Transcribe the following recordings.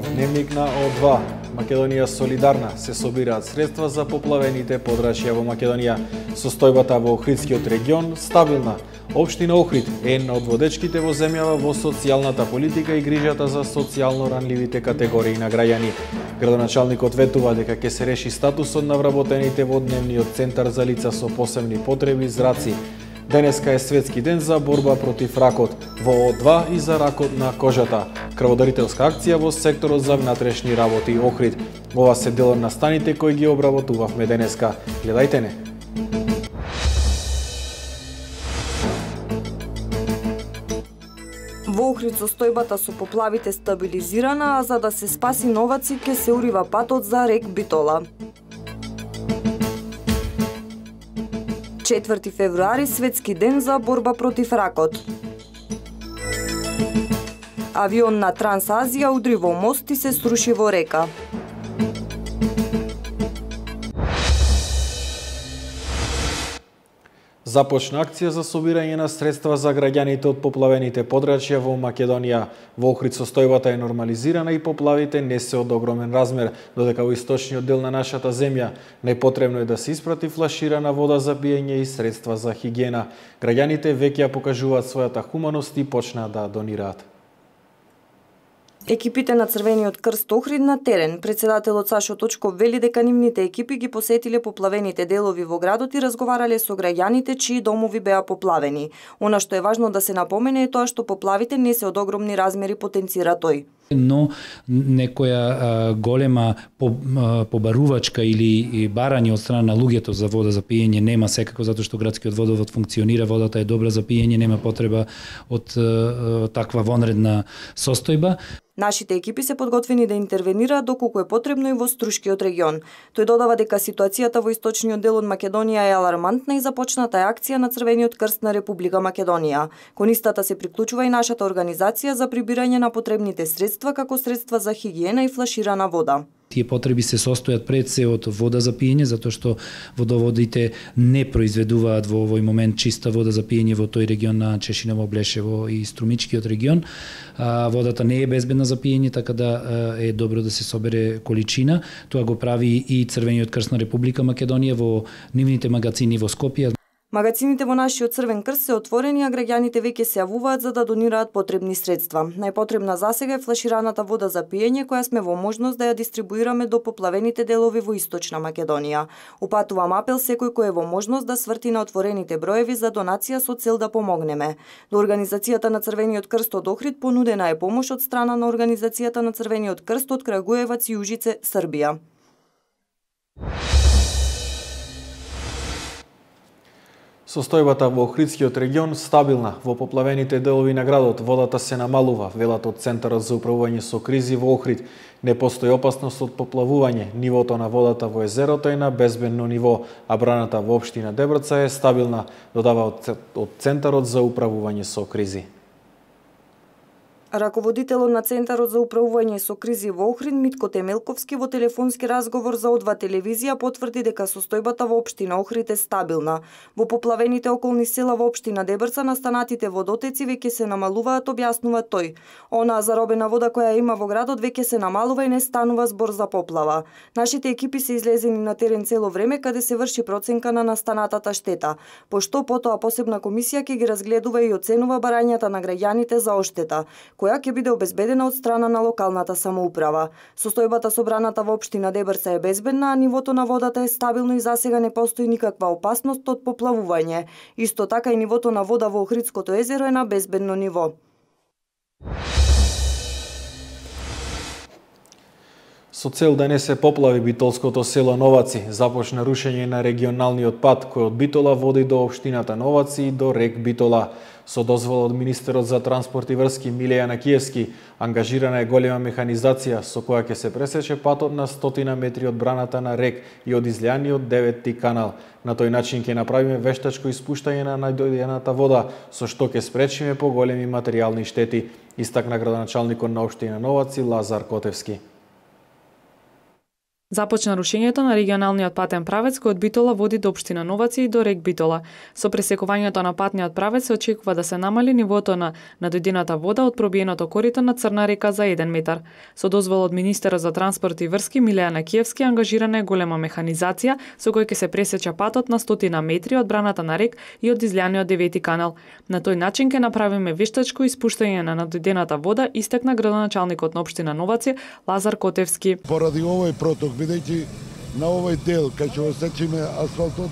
прв дневник на О2. Македонија солидарна, се собираат средства за поплавените подрачја во Македонија. Состојбата во Охридскиот регион стабилна. Општина Охрид е една од водечките во земјава во социјалната политика и грижата за социјално ранливите категории на граѓани. Градоначалникот ветува дека ќе се реши статусот на вработените во дневниот центар за лица со посебни потреби зраци. Денеска е светски ден за борба против ракот во О2 и за ракот на кожата. Крводарителска акција во секторот за внатрешни работи Охрид. Ова се дел од настаните кои ги обработувавме денеска. Гледајте не. Во Охрид состојбата со поплавите стабилизирана, а за да се спаси новаци ќе се урива патот за рек Битола. 4 февруари светски ден за борба против ракот. Авион на Трансазија удри во мост и се сруши во река. Започна акција за собирање на средства за граѓаните од поплавените подрачја во Македонија. Во Охрид состојбата е нормализирана и поплавите не се од огромен размер, додека во источниот дел на нашата земја најпотребно е да се испрати флаширана вода за пиење и средства за хигиена. Граѓаните веќе ја покажуваат својата хуманост и почнаа да донираат. Екипите на Црвениот крст Охрид на терен. Председателот Сашо Точков вели дека нивните екипи ги посетиле поплавените делови во градот и разговарале со граѓаните чии домови беа поплавени. Она што е важно да се напомене е тоа што поплавите не се од огромни размери, потенцира тој. Но некоја голема побарувачка или барање од страна на луѓето за вода за пиење нема, секако затоа што градскиот водовод функционира, водата е добра за пиење, нема потреба од таква вонредна состојба. Нашите екипи се подготвени да интервенираат доколку е потребно и во Струшкиот регион. Тој додава дека ситуацијата во источниот дел од Македонија е алармантна и започната е акција на Црвениот крст на Република Македонија. Кон истата се приклучува и нашата организација за прибирање на потребните средства како средства за хигиена и флаширана вода. Тие потреби се состојат пред се од вода за пиење, затоа што водоводите не произведуваат во овој момент чиста вода за пиење во тој регион на Чешиново, Блешево и Струмичкиот регион. Водата не е безбедна за пиење, така да е добро да се собере количина. Тоа го прави и Црвениот крст на Република Македонија во нивните магазини во Скопје. Магазините во нашиот Црвен крст се отворени, а граѓаните веќе се јавуваат за да донираат потребни средства. Најпотребна засега е флашираната вода за пиење, која сме во можност да ја дистрибуираме до поплавените делови во Источна Македонија. Упатувам апел секој кој е во можност да сврти на отворените броеви за донација со цел да помогнеме. До Организацијата на Црвениот крст од Охрид понудена е помош од страна на Организацијата на Црвениот крст од Крагуевац и Ужице, Србија. Состојбата во Охридскиот регион стабилна. Во поплавените делови на градот водата се намалува, велат од Центарот за управување со кризи во Охрид. Не постои опасност од поплавување. Нивото на водата во езерото е на безбедно ниво, а браната во општина Дебрца е стабилна, додава од Центарот за управување со кризи. Раководителот на Центарот за управување со кризи во Охрид Митко Темелковски во телефонски разговор за О2 телевизија потврди дека состојбата во општина Охрид е стабилна. Во поплавените околни села во општина Дебрца настанатите водотеци веќе се намалуваат, објаснува тој. Онаа заробена вода која има во градот веќе се намалува и не станува збор за поплава. Нашите екипи се излезени на терен цело време каде се врши проценка на настанатата штета, пошто потоа посебна комисија ќе ги разгледува и оценува барањата на граѓаните за оштета, која ќе биде обезбедена од страна на локалната самоуправа. Состојбата собраната во општина Дебрца е безбедна, а нивото на водата е стабилно и засега не постои никаква опасност од поплавување. Исто така и нивото на вода во Охридското езеро е на безбедно ниво. Со цел да не се поплави битолското село Новаци, започна рушење на регионалниот пат кој од Битола води до општината Новаци и до рек Битола. Со дозвола од министерот за транспорт и врски Милеја Накиевски, ангажирана е голема механизација со која ќе се пресече патот на 100 метри од браната на рек и од излијаниот 9-ти канал. На тој начин ќе направиме вештачко испуштање на најдојдената вода, со што ќе спречиме поголеми материјални штети, истакна градоначалникот на општина Новаци Лазар Котевски. Започна рушењето на регионалниот патен правец кој од Битола води до општина Новаци и до рек Битола. Со пресекувањето на патниот правец се очекува да се намали нивото на надојдената вода од пробиеното корито на Црна река за 1 метар. Со дозвола од министерот за транспорт и врски Милејана Киевски ангажирана е голема механизација со кој ќе се пресече патот на 100 метри од браната на рек и од излијаниот 9 канал. На тој начин ќе направиме вештачко испуштање на надојдената вода, истакна градоначалникот на општина Новаци Лазар Котевски. Поради овој проток, бидејќи на овој дел кај ќе осечиме асфалтот,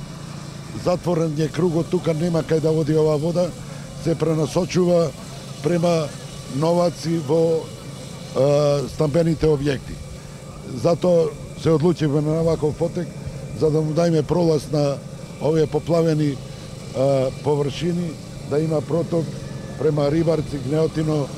затворен е кругот, тука нема кај да води оваа вода, се пренасочува према Новаци во стамбените објекти. Затоа се одлучивме на ваков потек, за да му дајме пролаз на овие поплавени површини, да има проток према Рибарци, Гнеотино,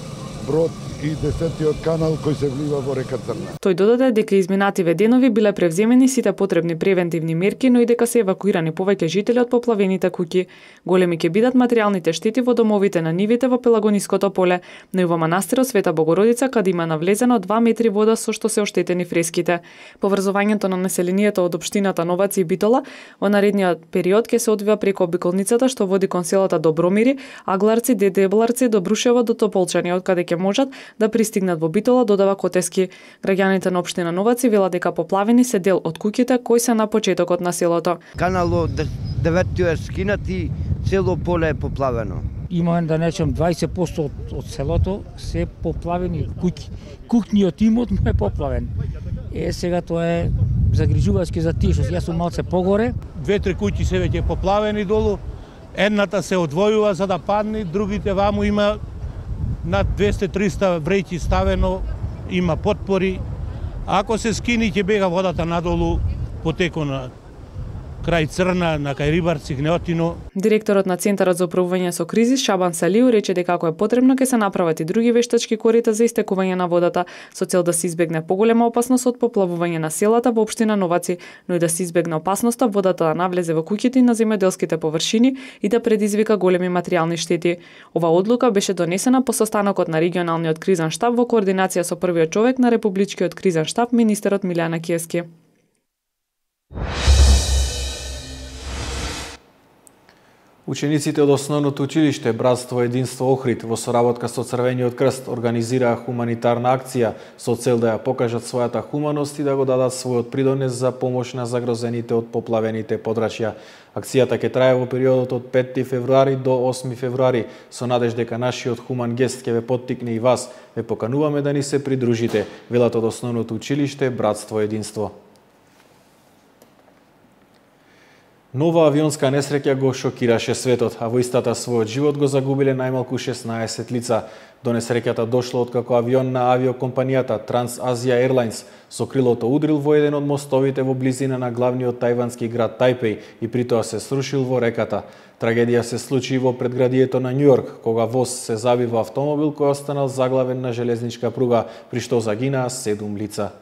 Брод и 10-тиот канал кој се влива во река Црна. Тој додаде дека изминативе денови биле превземени сите потребни превентивни мерки, но и дека се евакуирани повеќе жители од поплавените куќи. Големи ќе бидат материјалните штети во домовите на нивите во Пелагониското поле, но и во манастирот Света Богородица, каде има навлезено 2 метри вода со што се оштетени фреските. Поврзувањето на населението од општината Новаци и Битола во наредниот период ќе се одвива преку обиколницата што води кон селата Добромири, Агларци, Дедебларци, Добрушево до Тополчани, од каде ќе можат да пристигнат во Битола, додава Котевски. Граѓаните на општина Новаци велат дека поплавени се дел од куќите кои се на почетокот на селото. Каналот 9 е скинат и цело поле е поплавено. Има да речем 20% од селото се поплавени куќи. Кухниот имот му е поплавен. Сега тоа е загрижувачки за тие што јас сум малце погоре. 2-3 куќи се веќе поплавени долу. Едната се одвојува за да падне, другите ваму има над 200-300 вреќи ставено, има потпори. Ако се скини, ќе бега водата надолу потеко на крај Црна, на кај Рибарци, Гнеотино. Директорот на Центарот за управување со кризи Шабан Салиу рече дека ако е потребно ќе се направат и други вештачки корита за истекување на водата со цел да се избегне поголема опасност од поплавување на селата во општина Новаци, но и да се избегне опасноста водата да навлезе во куќите и на земјоделските површини и да предизвика големи материјални штети. Ова одлука беше донесена по состанокот на регионалниот кризен штаб во координација со првиот човек на републичкиот кризен штаб, министерот Милејана Киевски. Учениците од основното училиште Братство Единство Охрид во соработка со Црвениот крст организираа хуманитарна акција со цел да ја покажат својата хуманост и да го дадат својот придонес за помош на загрозените од поплавените подрачја. Акцијата ќе трае во периодот од 5 февруари до 8 февруари со надеж дека нашиот хуман гест ќе ве поттикне и вас. Ве покануваме да ни се придружите, велат од основното училиште Братство Единство. Нова авионска несреќа го шокираше светот, а во истата својот живот го загубиле најмалку 16 лица. До несреќата дошло откако авион на авиокомпанијата Trans-Asia Airlines со крилото удрил во еден од мостовите во близина на главниот тајвански град Тајпеј и притоа се срушил во реката. Трагедија се случи во предградието на Њујорк, кога воз се заби во автомобил кој останал заглавен на железничка пруга, при што загинаа 7 лица.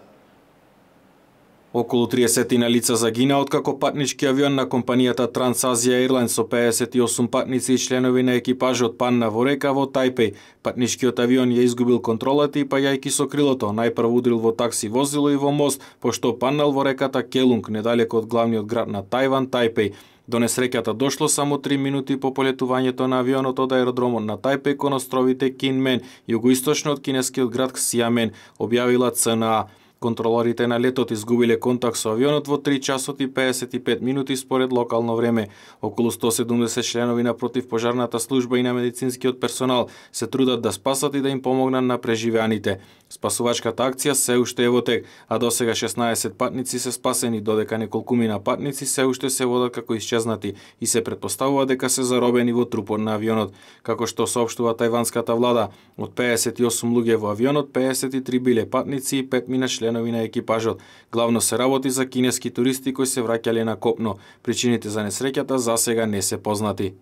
Околу 30 лица загина откако патнички авион на компанијата Trans-Asia Airlines со 58 патници и членови на екипажот падна во река во Тајпеј. Патничкиот авион ја изгубил контролата и паѓајќи со крилото, најпрво удрил во такси возило и во мост, пошто паднал во реката Келунг, недалеку од главниот град на Тајван, Тајпеј. До несреќата дошло само 3 минути по полетувањето на авионот од аеродромот на Тајпеј кон островите Кинмен, југоисточно од кинескиот град Ксиамен, објавила ЦНА. Контролорите на летот изгубиле контакт со авионот во 3 часот и 55 минути според локално време. Околу 170 членови на противпожарната служба и на медицинскиот персонал се трудат да спасат и да им помогнат на преживеаните. Спасувачката акција се уште е во тек, а досега 16 патници се спасени, додека неколкумина патници се уште се водат како исчезнати и се претпоставува дека се заробени во трупот на авионот. Како што соопштува тајванската влада, од 58 луѓе во авионот, 53 биле патници и 5 мина членови на екипажот. Главно се работи за кинески туристи кои се враќале на копно. Причините за несреќата засега не се познати.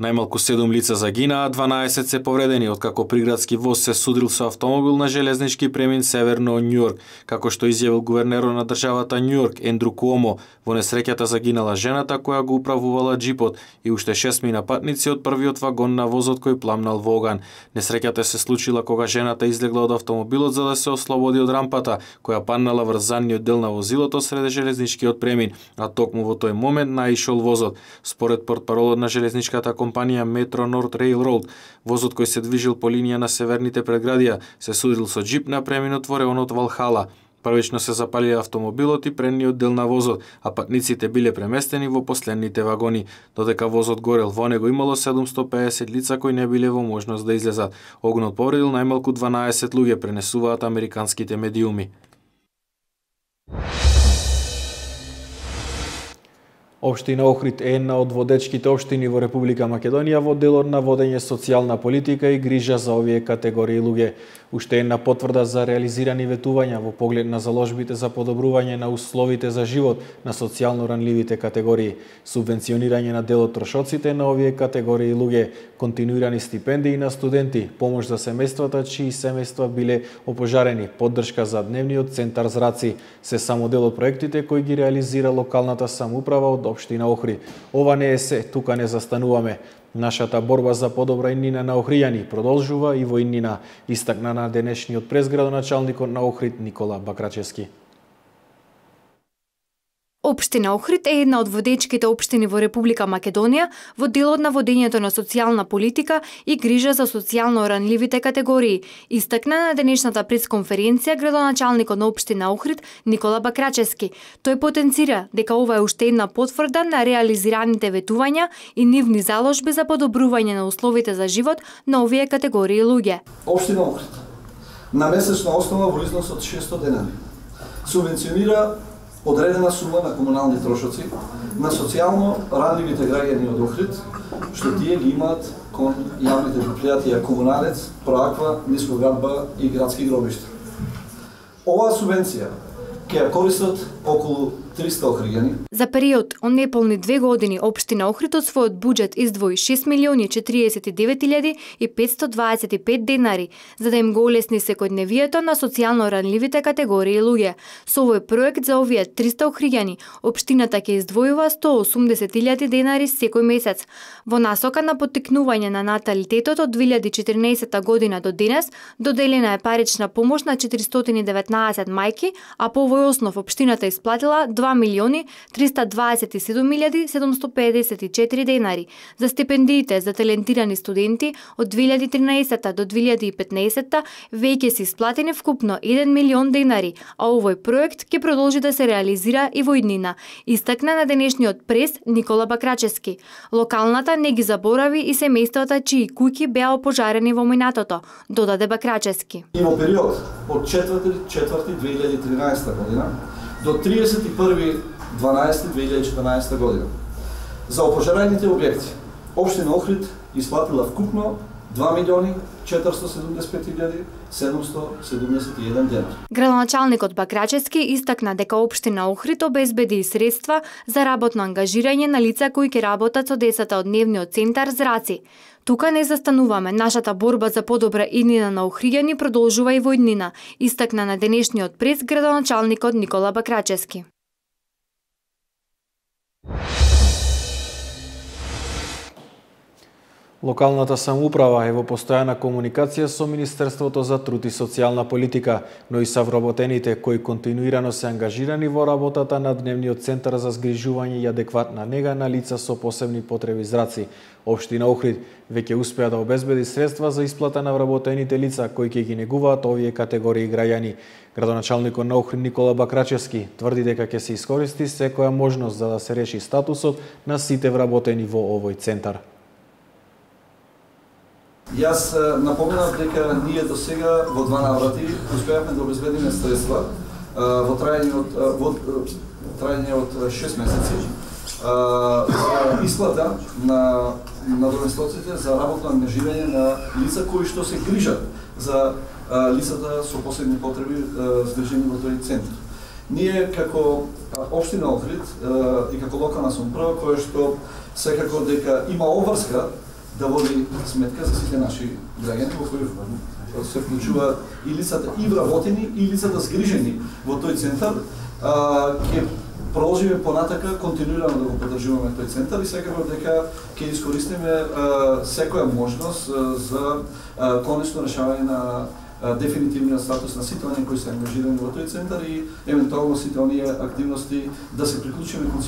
Најмалку 7 лица загинаа, 12 се повредени, откако приградски воз се судрил со автомобил на железнички премин северно од Њујорк, како што изјавил гувернерот на државата Њујорк Ендрю Куомо. Во несреќата загинала жената која го управувала джипот и уште 6 мина патници од првиот вагон на возот кој пламнал во оган. Несреќата се случила кога жената излегла од автомобилот за да се ослободи од рампата, која паднала врз задниот дел на возилото среде железничкиот премин, а токму во тој момент наишол возот. Според портпаролот на железничката компанија Metro North Railroad, возот кој се движил по линија на северните предградија се судрил со джип на преминот во районот Валхала. Првично се запалија автомобилот и предниот дел на возот, а патниците биле преместени во последните вагони. Додека возот горел, во него имало 750 лица кои не биле во можност да излезат. Огнот повредил најмалку 12 луѓе, пренесуваат американските медиуми. Општина Охрид е една од водечките општини во Република Македонија во делот на водење социјална политика и грижа за овие категории луѓе. Уште една потврда за реализирани ветувања во поглед на заложбите за подобрување на условите за живот на социјално ранливите категории, субвенционирање на дел од трошоците на овие категории луѓе, континуирани стипендии на студенти, помош за семејствата чии семејства биле опожарени, поддршка за дневниот центар Зраци, се само дел од проектите кои ги реализира локалната самоуправа од општина Охрид. Ова не е се, тука не застануваме. Нашата борба за подобра иднина на охријани продолжува и во иднина, истакна на денешниот презградоначалникот на Охрид Никола Бакрачевски. Општина Охрид е една од водечките општини во Република Македонија во делот на водењето на социјална политика и грижа за социјално ранливите категории, истакна на денешната пресконференција градоначалникот на општина Охрид Никола Бакрачевски. Тој потенцира дека ова е уште една потврда на реализираните ветувања и нивни заложби за подобрување на условите за живот на овие категории луѓе. Општина Охрид на месечна основа во износ од 600 денари субвенционира одредена сума на комунални трошоци на социјално ранливите граѓани од Охрид, што тие ги имаат кон јавните предпријатија Комуналец, Проаква, Нискоградба и Градски гробишта. Оваа субвенција ќе ја користат околу 300 охријани. За период од неполни 2 години општина Охрид од својот буџет издвои 6.049.525 денари за да им го олесни секојдневието на социјално ранливите категории луѓе. Со овој проект за овие 300 охријани општината ќе издвојува 180.000 денари секој месец. Во насока на поттикнување на наталитетот од 2014 година до денес доделена е парична помош на 419 мајки, а по овој основ општината исплатила 2.327.754 денари. За стипендиите за талентирани студенти од 2013 до 2015 веќе се исплатени вкупно 1 милион денари, а овој проект ќе продолжи да се реализира и во иднина, истакна на денешниот прес Никола Бакрачевски. Локалната не ги заборави и семејствата чии куќи беа опожарени во минатото, додаде Бакрачевски. И во период од 4.4.2013 година до 31.12.2014 година. За опожарените објекти, општина Охрид исплатила вкупно 2.475.771 денари. Градоначалникот Бакрачевски истакна дека општина Охрид обезбеди средства за работно ангажирање на лица кои ќе работат со децата од дневниот центар Зраци. Тука не застануваме, нашата борба за подобра иднина на охријани продолжува и во иднина, истакна на денешниот прес градоначалникот Никола Бакрачевски. Локалната самоуправа е во постојана комуникација со Министерството за труд и социјална политика, но и са вработените кои континуирано се ангажирани во работата на дневниот центар за згрижување и адекватна нега на лица со посебни потреби Зраци. Општина Охрид веќе успеа да обезбеди средства за исплата на вработените лица кои ќе ги негуваат овие категории граѓани. Градоначалникот на Охрид Никола Бакрачевски тврди дека ќе се искористи секоја можност за да се реши статусот на сите вработени во овој центар. Јас напоменав дека ние до сега во 2 наврати успеавме да обезбедиме средства во трајање од 6 месеци за исплата на надоместоците за работно ангажирање на лица кои што се грижат за лицата со посебни потреби згрижени во тој центар. Ние како општина Охрид и како локална самоуправа која што секако дека има обврска да води сметка за сите наши граѓани во кои се вклучува и лицата и вработени и лицата згрижени во тој центар, ќе продолжиме понатака континуирано да го поддржуваме тој центар и секако дека ќе искористиме секоја можност за конечно решавање на дефинитивниот статус на сите оние кои се ангажирани во тој центар и евентуално сите оние активности да се приклучиме кон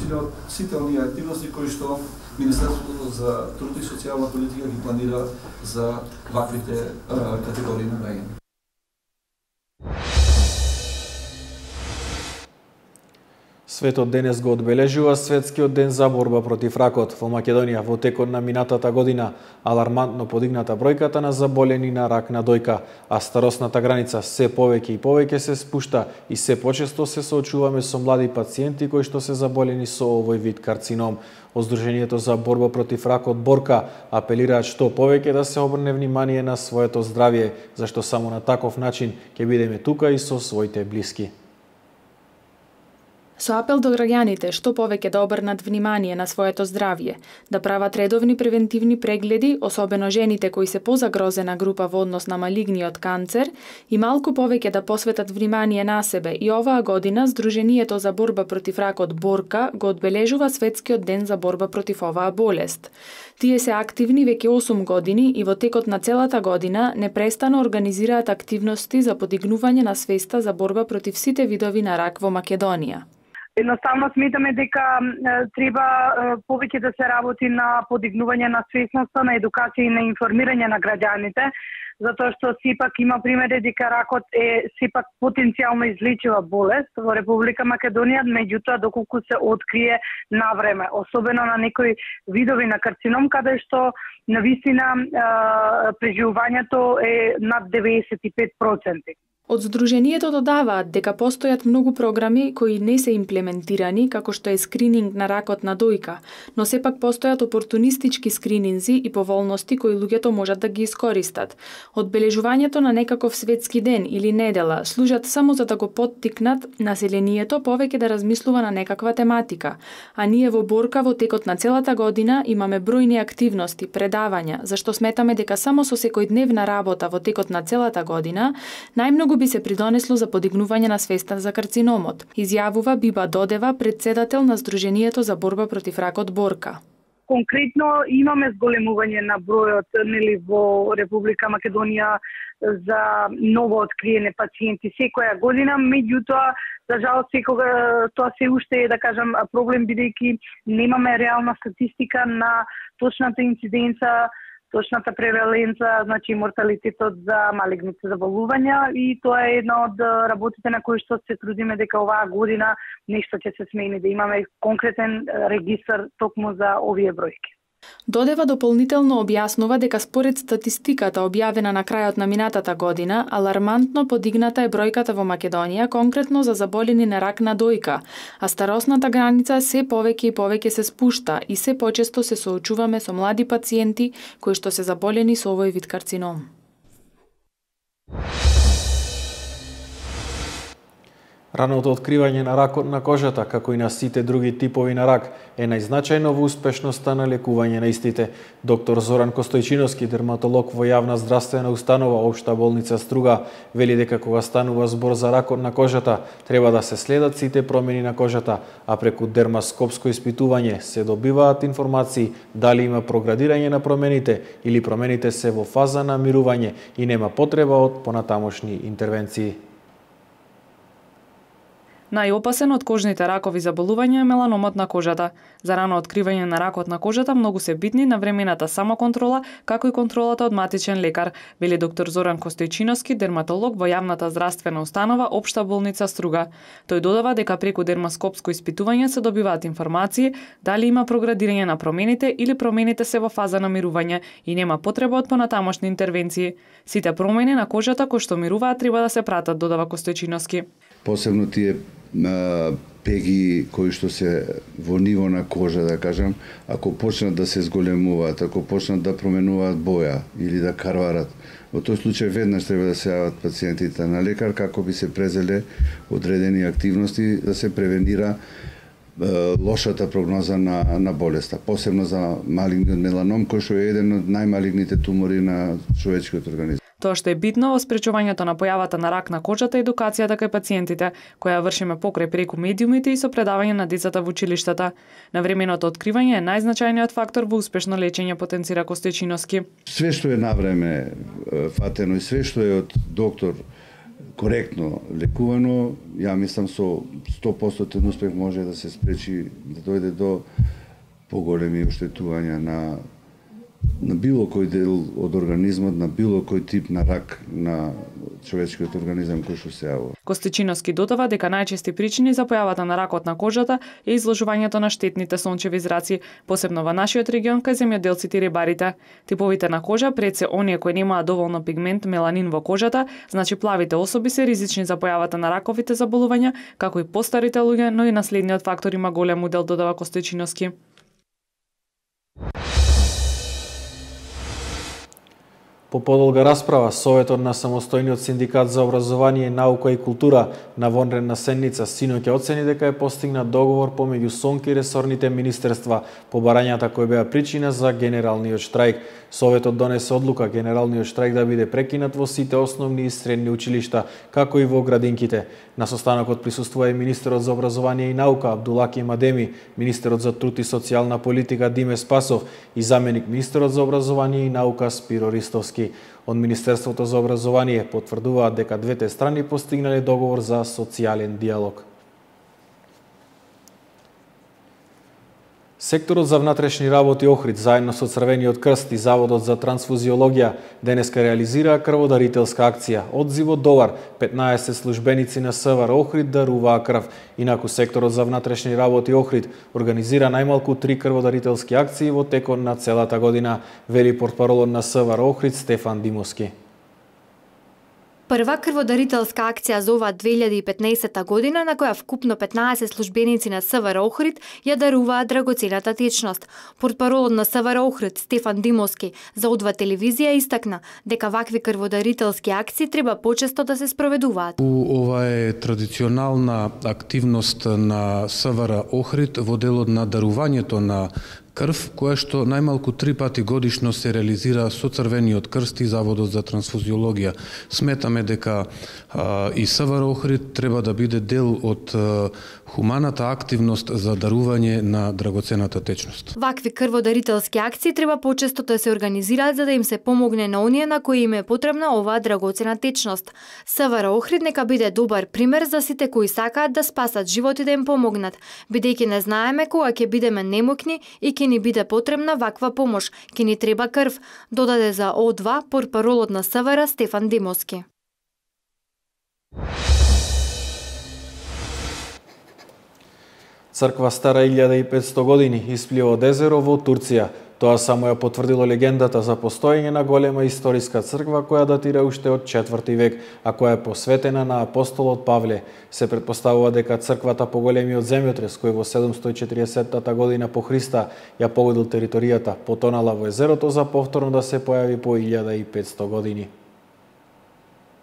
сите оние активности кои што Министерството за труд и социјална политика ги планира за ваквите категории на граѓани. Светот денес го одбележува Светскиот ден за борба против ракот. Во Македонија во текот на минатата година алармантно подигната бројката на заболени на рак на дојка, а старосната граница се повеќе и повеќе се спушта и се почесто се соочуваме со млади пациенти кои што се заболени со овој вид карцином. Од Сдруженијето за борба против ракот Борка апелираат што повеќе да се обрне внимание на своето здравје, зашто само на таков начин ќе бидеме тука и со своите блиски. Со апел до граѓаните што повеќе да обрнат внимание на своето здравје, да прават редовни превентивни прегледи, особено жените кои се позагрозена група во однос на малигниот канцер, и малку повеќе да посветат внимание на себе. И оваа година Сдруженијето за борба против ракот Борка го одбележува Светскиот ден за борба против оваа болест. Тие се активни веќе 8 години и во текот на целата година непрестано организираат активности за подигнување на свеста за борба против сите видови на рак во Македонија. Едноставно сметаме дека треба повеќе да се работи на подигнување на свесноста, на едукација и на информирање на граѓаните, затоа што сепак има примери дека ракот е сепак потенцијално излечива болест во Република Македонија, меѓутоа доколку се открие на време, особено на некои видови на карцином каде што навистина преживувањето е над 95%. Од Сдруженијето додаваат дека постојат многу програми кои не се имплементирани, како што е скрининг на ракот на дојка, но сепак постојат опортунистички скрининзи и поволности кои луѓето можат да ги искористат. Одбележувањето на некаков светски ден или недела служат само за да го поттикнат населението повеќе да размислува на некаква тематика, а ние во Борка во текот на целата година имаме бројни активности, предавања, зашто сметаме дека само со секојдневна работа во текот на целата година најмногу би се придонесло за подигнување на свеста за карциномот, изјавува Биба Додева, председател на Сдруженијето за борба против ракот Борка. Конкретно имаме зголемување на бројот во Република Македонија за ново откриени пациенти секоја година, меѓутоа за жал секога тоа се уште е да кажам проблем бидејќи немаме реална статистика на точната инциденца, точната преваленца, значи морталитетот за малигните заболувања и тоа е една од работите на кои што се трудиме дека оваа година нешто ќе се смени, да имаме конкретен регистар токму за овие бројки. Додева дополнително објаснува дека според статистиката објавена на крајот на минатата година, алармантно подигната е бројката во Македонија конкретно за заболени на рак на дојка, а старосната граница се повеќе и повеќе се спушта и се почесто се соочуваме со млади пациенти кои што се заболени со овој вид карцином. Раното откривање на ракот на кожата, како и на сите други типови на рак, е најзначајно во успешноста на лекување на истите. Доктор Зоран Костојчиновски, дерматолог во јавна здравствена установа Општа болница Струга, вели дека кога станува збор за ракот на кожата, треба да се следат сите промени на кожата, а преку дермаскопско испитување се добиваат информации дали има проградирање на промените или промените се во фаза на мирување и нема потреба од понатамошни интервенции. Најопасен од кожните ракови заболувања е меланомот на кожата. За рано откривање на ракот на кожата многу се битни навремената самоконтрола, како и контролата од матичен лекар, вели доктор Зоран Костојчиновски, дерматолог во јавната здравствена установа Општа болница Струга. Тој додава дека преку дермаскопско испитување се добиваат информации дали има проградирање на промените или промените се во фаза на мирување и нема потреба од понатамошни интервенции. Сите промени на кожата кои што мируваат треба да се пратат, додава Костојчиновски. посебно тие пеги кои што се во ниво на кожа, да кажам, ако почнат да се зголемуваат, ако почнат да променуваат боја или да карварат, во тој случај веднаш треба да се јават пациентите на лекар како би се презеле одредени активности да се превенира лошата прогноза на болеста, посебно за малигниот меланом, кој што е еден од најмалигните тумори на човечкиот организам. Тоа што е битно во спречувањето на појавата на рак на кожата е едукацијата кај пациентите, која вршиме покрај преку медиумите и со предавање на децата во училиштата. Навременото откривање е најзначајниот фактор во успешно лечење, потенцира Костечиновски. Све што е навреме фатено и све што е од доктор коректно лекувано, ја мислам со 100% успех може да се спречи да дојде до поголеми оштетувања на било кој дел од организмот, на било кој тип на рак на човечкиот организам кој што се јавува. Костечиновски додава дека најчести причини за појавата на ракот на кожата е изложувањето на штетните сончеви зраци, посебно во нашиот регион кај земјоделците и рибарите. Типовите на кожа пред се оние кои немаат доволно пигмент меланин во кожата, значи плавите особи се ризични за појавата на раковите заболувања, како и постарите луѓе, но и наследниот фактор има голем удел, додава Костечиновски. По подолга расправа, Советот на самостојниот синдикат за образование, наука и култура на вонредна седница синоќа оцени дека е постигнат договор помеѓу СОНК и ресорните министерства по барањата кои беа причина за генералниот штрајк. Советот донесе одлука генералниот штрајк да биде прекинат во сите основни и средни училишта, како и во градинките. На состанокот присуствува и министерот за образование и наука Абдулаки Мадеми, министерот за труд и социјална политика Диме Спасов и заменик министерот за образование и наука Спиро Ристовски. Од Министерството за образование потврдуваат дека двете страни постигнале договор за социјален диалог. Секторот за внатрешни работи Охрид заедно со Црвениот крст и Заводот за трансфузиологија денеска реализираа крводарителска акција Одзиво добар. 15 службеници на СВР Охрид даруваа крв. Инаку секторот за внатрешни работи Охрид организира најмалку 3 крводарителски акции во текот на целата година, вели портпаролот на СВР Охрид Стефан Димовски. Прва крводарителска акција за оваа 2015 година, на која вкупно 15 службеници на СВР Охрид ја даруваат драгоцената течност. Портпаролот на СВР Охрид Стефан Димовски за Одва телевизија истакна дека вакви крводарителски акции треба почесто да се спроведуваат. Ова е традиционална активност на СВР Охрид во делот на дарувањето на крв, која што најмалку 3 пати годишно се реализира со Црвениот крст и Заводот за трансфузиологија. Сметаме дека и СВР Охрид треба да биде дел од хуманата активност за дарување на драгоцената течност. Вакви крводарителски акции треба почесто да се организираат за да им се помогне на оние на кои им е потребна оваа драгоцена течност. СВР Охрид нека биде добар пример за сите кои сакаат да спасат живот и да им помогнат, бидејќи не знаеме кога ќе бидеме немокни и ќе ни биде потребна ваква помош, ќе ни треба крв, додаде за О2 портпаролот на СВР Стефан Димовски. Црква стара 1500 години исплива од езеро во Турција. Тоа само ја потврдило легендата за постоење на голема историска црква која датира уште од 4 век, а која е посветена на апостолот Павле. Се претпоставува дека црквата по големиот земјотрес кој во 740 година по Христа ја погодил територијата, потонала во езерото за повторно да се појави по 1500 години.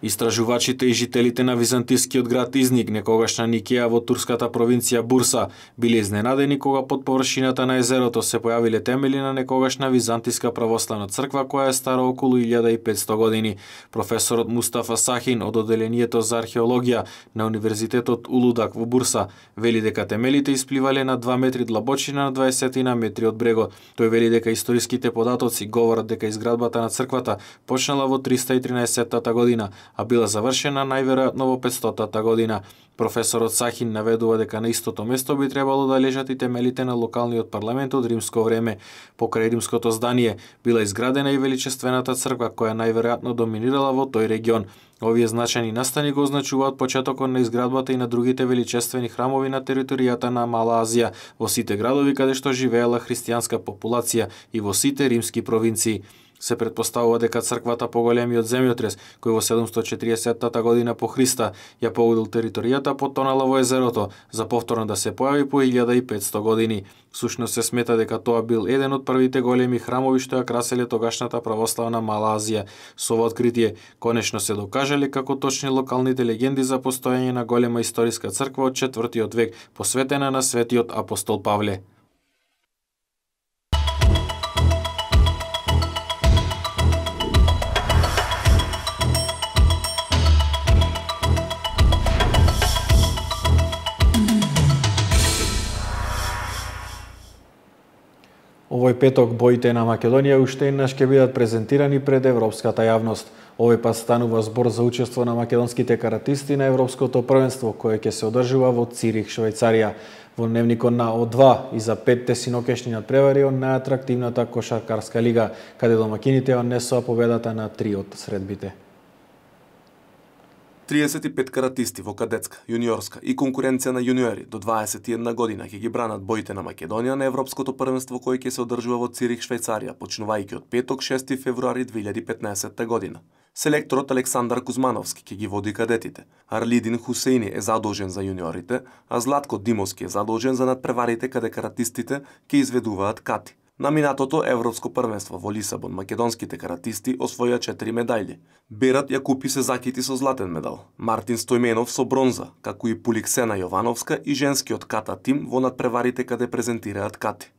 Истражувачите и жителите на византискиот град Изник, некогашна Никеја во турската провинција Бурса, биле изненадени кога под површината на езерото се појавиле темели на некогашна византиска православна црква која е стара околу 1500 години. Професорот Мустафа Сахин од Оделението за археологија на Универзитетот Улудак во Бурса вели дека темелите испливале на 2 метри длабочина на 20 метри од брегот. Тој вели дека историските податоци говорат дека изградбата на црквата почнала во 313 година, а била завршена најверојатно во 500 година. Професорот Сахин наведува дека на истото место би требало да лежат и темелите на локалниот парламент од римско време. Покрај римското здание била изградена и величествената црква која најверојатно доминирала во тој регион. Овие значајни настани го означуваат почетокот на изградбата и на другите величествени храмови на територијата на Мала Азија, во сите градови каде што живеела христијанска популација и во сите римски провинции. Се претпоставува дека црквата поголемиот земјотрес, кој во 740 година по Христа ја погодил територијата, потонала во езерото, за повторно да се појави по 1500 години. Всушност се смета дека тоа бил еден од првите големи храмови што ја краселе тогашната православна Мала Азија. Со ова откритие конечно се докажале како точни локалните легенди за постојање на голема историска црква од 4 век, посветена на светиот апостол Павле. Овој петок боите на Македонија уште еднаш ќе бидат презентирани пред европската јавност. Овој пат станува збор за учество на македонските каратисти на Европското првенство, кое ќе се одржува во Цирих, Швајцарија. Во дневникот на О2 и за 5 синокешни надпревари од најатрактивната кошаркарска лига, каде домакините однесоа победата на 3 од средбите. 35 каратисти во кадетска, јуниорска и конкуренција на јуниори до 21 година ќе ги бранат боите на Македонија на Европското првенство кој ќе се одржува во Цирих, Швајцарија, почнувајќи од петок 6 февруари 2015 година. Селекторот Александар Кузмановски ќе ги води кадетите. Арлидин Хусеини е задолжен за јуниорите, а Златко Димовски е задолжен за надпреварите каде каратистите ќе изведуваат кати. На минатото Европско првенство во Лисабон македонските каратисти освоја 4 медајли. Берат Јакупи се закити со златен медал, Мартин Стојменов со бронза, како и Пуликсена Јовановска и женскиот ката тим во надпреварите каде презентираат кати.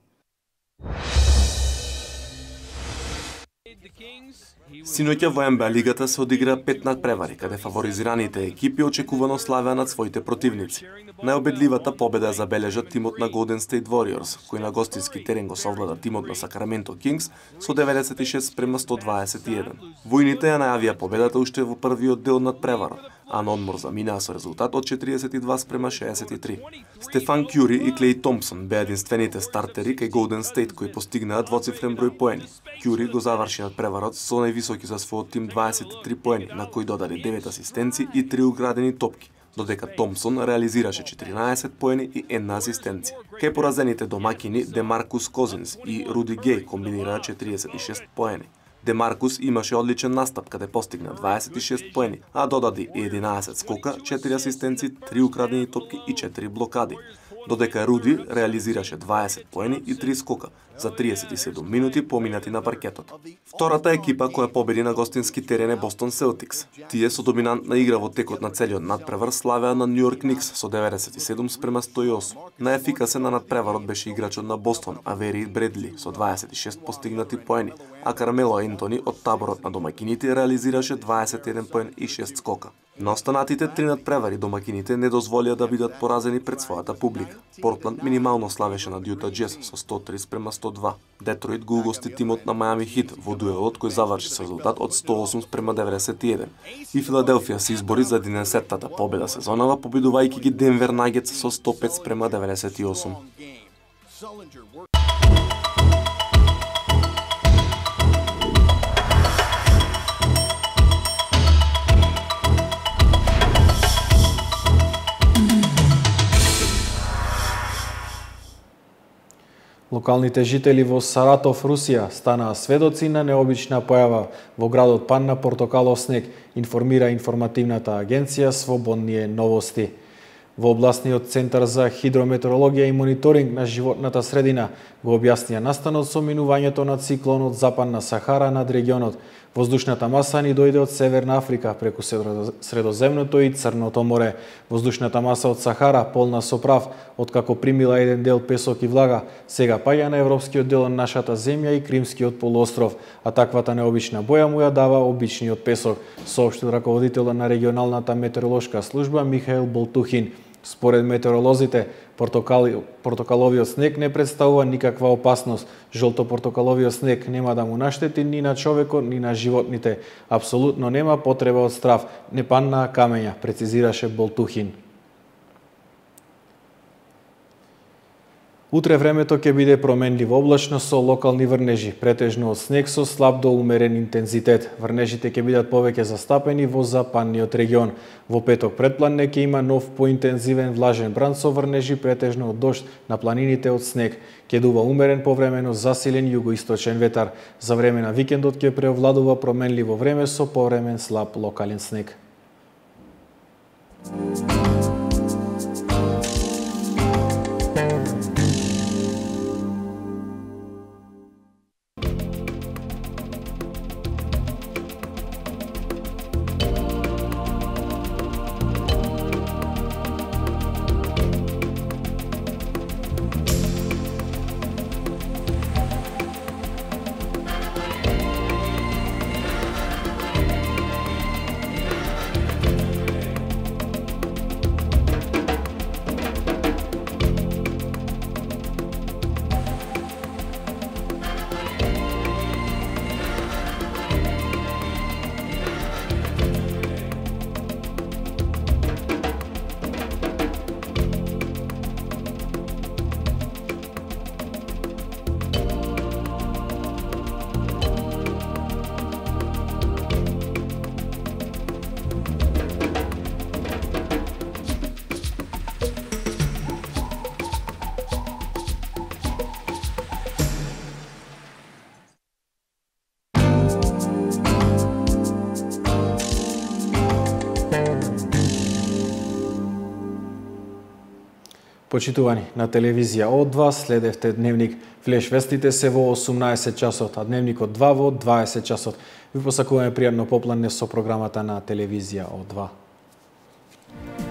Синоќа во НБА лигата се одигра 5 надпревари, каде фаворизираните екипи очекувано славеа над своите противници. Најобедливата победа забележа тимот на Golden State Warriors, кој на гостински терен го совлада тимот на Сакраменто Кингс со 96-121. Војните ја најавија победата уште во првиот дел над преварот, а на одмор заминаа со резултат од 42-63. Стефан Кјури и Клей Томпсон беа единствените стартери кај Golden State кои постигнаа двоцифрен број поени. Кјури го заврши над преварот со највисоки за својот тим 23 поени, на кои додаде 9 асистенци и 3 украдени топки, додека Томпсон реализираше 14 поени и 1 асистенција. Кај поразените домакини Демаркус Козинс и Руди Геј комбинираа 46 поени. Демаркус имаше одличен настап каде постигна 26 поени, а додаде 11 скока, 4 асистенци, 3 украдени топки и 4 блокади. Додека Руди реализираше 20 поени и 3 скока за 37 минути поминати на паркетот. Втората екипа која победи на гостински терен е Бостон Селтикс. Тие со доминантна игра во текот на целиот надпревар славеа на Нью Йорк Никс со 97-108. Најефикасен на надпреварот беше играчот на Бостон, Авери Бредли, со 26 постигнати поени, а Кармело Ентони од таборот на домакините реализираше 21 поен и 6 скока. На останатите 3 надпревари домакините не дозволија да бидат поразени пред својата публика. Портланд минимално славеше над Јута Джез со 130-102. Детройт го угости тимот на Мајами Хит во дуелот кој заврши со резултат од 108-91. И Филаделфија се избори за 11-тата победа сезонава, победувајќи ги Денвер Нагетс со 105-98. Локалните жители во Саратов, Русија, станаа сведоци на необична појава во градот падна портокалов снег, информира информативната агенција Слободние новости. Во областниот центар за хидрометеорологија и мониторинг на животната средина го објаснија настанот со минувањето на циклонот Западна Сахара над регионот. Воздушната маса ни дојде од Северна Африка преку Средоземното и Црното море. Воздушната маса од Сахара, полна со прав, откако примила еден дел песок и влага, сега паѓа на европскиот дел на нашата земја и Кримскиот полуостров, а таквата необична боја му ја дава обичниот песок, соопштил раководителот на регионалната метеоролошка служба Михаил Болтухин. Според метеоролозите, портокаловиот снег не представува никаква опасност. Жолто-портокаловиот снег нема да му наштети ни на човекот, ни на животните. Апсолутно нема потреба од страв, не паднаа камења, прецизираше Болтухин. Утре времето ќе биде променливо облачно со локални врнежи, претежно од снег со слаб до умерен интензитет. Врнежите ќе бидат повеќе застапени во западниот регион. Во петок предпланне ќе има нов поинтензивен влажен бран со врнежи претежно од дожд на планините од снег. Ќе дува умерен повремено засилен југоисточен ветар. За време на викендот ќе преовладува променливо време со повремен слаб локален снег. Почитувани, на телевизија О2 следевте дневник Флеш вестите се во 18 часот, а дневникот 2 во 20 часот. Ви посакуваме пријатно попладне со програмата на телевизија О2.